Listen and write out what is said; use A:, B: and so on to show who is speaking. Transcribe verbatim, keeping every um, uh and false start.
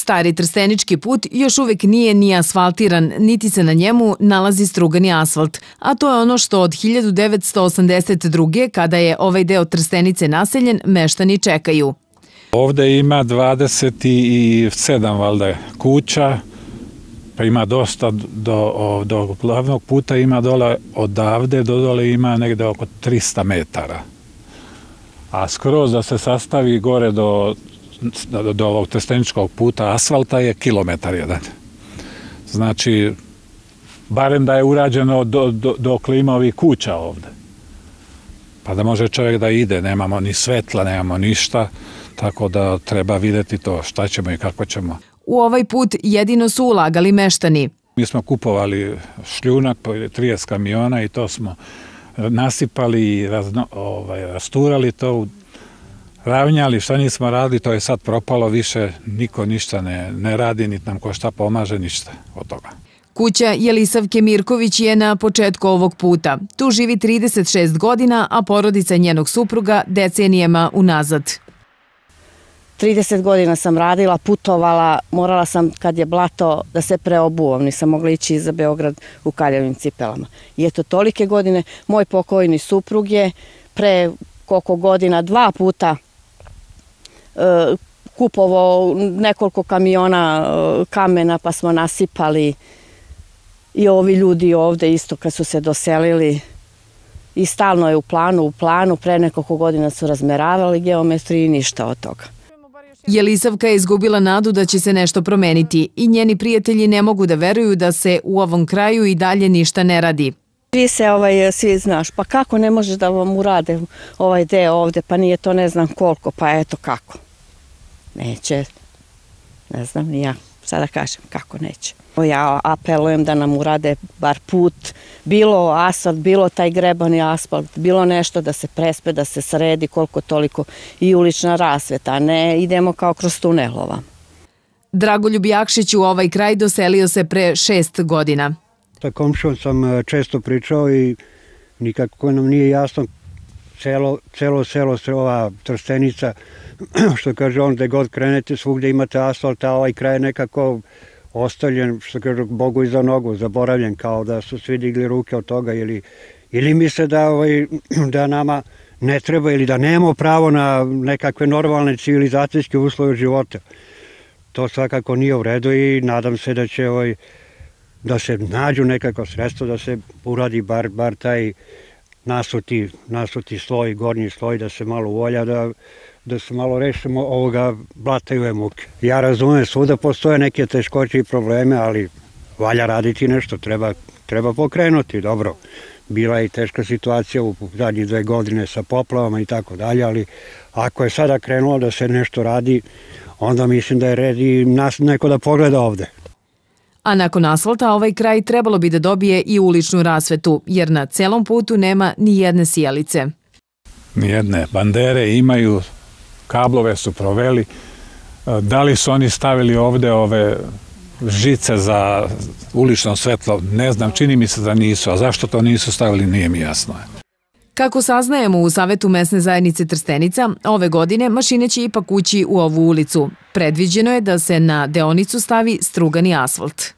A: Stari Trstenički put još uvek nije ni asfaltiran, niti se na njemu nalazi strugani asfalt, a to je ono što od hiljadu devetsto osamdeset druge. kada je ovaj deo Trstenice naseljen, meštani čekaju.
B: Ovde ima dvadeset sedam valjda kuća, pa ima dosta do, do glavnog puta, ima dole odavde do dole ima negde oko trista metara. A skroz da se sastavi gore do, do, do ovog Trsteničkog puta asfalta je kilometar jedan. Znači, barem da je urađeno do, do, do klima ovih kuća ovde. Pa da može čovjek da ide, nemamo ni svetla, nemamo ništa, tako da treba vidjeti to šta ćemo i kako ćemo.
A: U ovaj put jedino su ulagali meštani.
B: Mi smo kupovali šljunak, trideset kamiona i to smo nasipali i razno, ovaj, rasturali to, ravnjali, šta nismo radili, to je sad propalo više, niko ništa ne, ne radi, niti nam ko šta pomaže, ništa od toga.
A: Kuća Jelisavke Mirković je na početku ovog puta. Tu živi trideset šest godina, a porodica njenog supruga decenijema unazad.
C: trideset godina sam radila, putovala, morala sam kad je blato da se preobuvam, nisam mogla ići za Beograd u kaljavim cipelama. I eto, tolike godine, moj pokojni suprug je pre koliko godina dva puta e, kupovao nekoliko kamiona e, kamena pa smo nasipali i ovi ljudi ovde isto kad su se doselili i stalno je u planu, u planu, pre nekoliko godina su razmeravali geometriju i ništa od toga.
A: Jelisavka je izgubila nadu da će se nešto promeniti i njeni prijatelji ne mogu da veruju da se u ovom kraju i dalje ništa ne radi.
C: Vi se ovaj, svi znaš, pa kako ne možeš da vam urade ovaj deo ovde, pa nije to ne znam koliko, pa eto kako. Neće, ne znam ni ja, sada kažem kako neće. Ja apelujem da nam urade bar put, bilo asfalt, bilo taj grebani asfalt, bilo nešto da se prespe, da se sredi koliko toliko i ulična rasveta, a ne idemo kao kroz tunelova.
A: Dragoljub Jakšić u ovaj kraj doselio se pre šest godina.
D: Sa komšijom sam često pričao i nikako nam nije jasno celo, celo selo, ova Trstenica, što kaže on, gde god krenete, svugde imate asfalt, a ovaj kraj nekako ostavljen, što kaže, Bogu iza nogu, zaboravljen, kao da su svi digli ruke od toga ili, ili misle da, ovaj, da nama ne treba ili da nemamo pravo na nekakve normalne civilizacijske uslove života. To svakako nije u redu i nadam se da će ovaj, da se nađu nekako sredstvo da se uradi bar, bar taj nasuti, nasuti sloj, gornji sloj, da se malo uvolja, da da se malo rešimo ovoga blata i ove muke. Ja razumem, svuda postoje neke teškoće i probleme, ali valja raditi nešto, treba, treba pokrenuti, dobro. Bila je i teška situacija u zadnjih dve godine sa poplavama i tako dalje, ali ako je sada krenulo da se nešto radi, onda mislim da je red i nas neko da pogleda ovde.
A: A nakon asfalta ovaj kraj trebalo bi da dobije i uličnu rasvetu, jer na celom putu nema ni jedne sijalice.
B: Nijedne bandere imaju, kablove su proveli. Da li su oni stavili ovde ove žice za ulično svetlo? Ne znam, čini mi se da nisu. A zašto to nisu stavili, nije mi jasno.
A: Kako saznajemo u Savetu mesne zajednice Trstenica, ove godine mašine će ipak ući u ovu ulicu. Predviđeno je da se na deonicu stavi strugani asfalt.